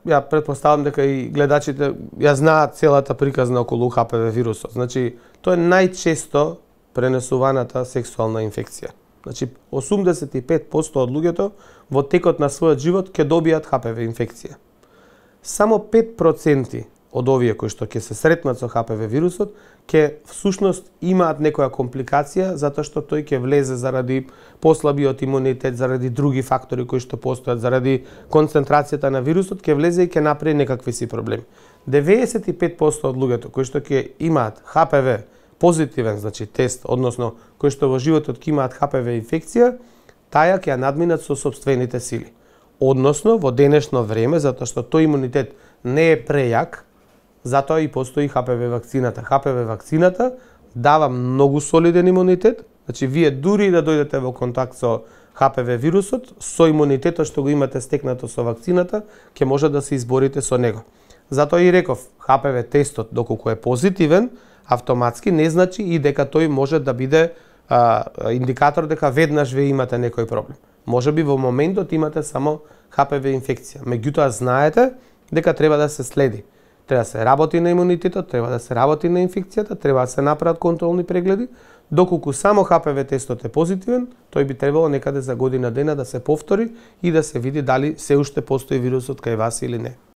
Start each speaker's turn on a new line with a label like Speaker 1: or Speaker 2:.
Speaker 1: ја претпоставам дека и гледачите ја знаат целата приказна околу ХПВ вирусот. Значи, тоа е најчесто пренесуваната сексуална инфекција. Значи, 85% од луѓето во текот на својот живот ќе добијат ХПВ инфекција. Само 5% од овие кои што ќе се сретнат со ХПВ вирусот, ќе всушност имаат некоја компликација затоа што тој ќе влезе заради послабиот имунитет, заради други фактори кои што постојат, заради концентрацијата на вирусот, ќе влезе и ќе направи некакви си проблеми. 95% од луѓето кои што ќе имаат ХПВ позитивен, значи тест, односно кои што во животот ќе имаат ХПВ инфекција, таја ќе ја надминат со сопствените сили. Односно, во денешно време, затоа што тој имунитет не е прејак, затоа и постои ХПВ вакцината. ХПВ вакцината дава многу солиден имунитет, значи вие дури да дојдете во контакт со ХПВ вирусот, со имунитетот што го имате стекнато со вакцината, ќе може да се изборите со него. Затоа и реков, ХПВ тестот, доколку е позитивен, автоматски не значи и дека тој може да биде индикатор дека веднаш ве имате некој проблем. Може би во моментот имате само ХПВ инфекција. Меѓутоа знаете дека треба да се следи. Треба да се работи на имунитетот, треба да се работи на инфекцијата, треба да се направат контролни прегледи. Доколку само ХПВ тестот е позитивен, тој би требало некаде за година дена да се повтори и да се види дали се уште постои вирусот кај вас или не.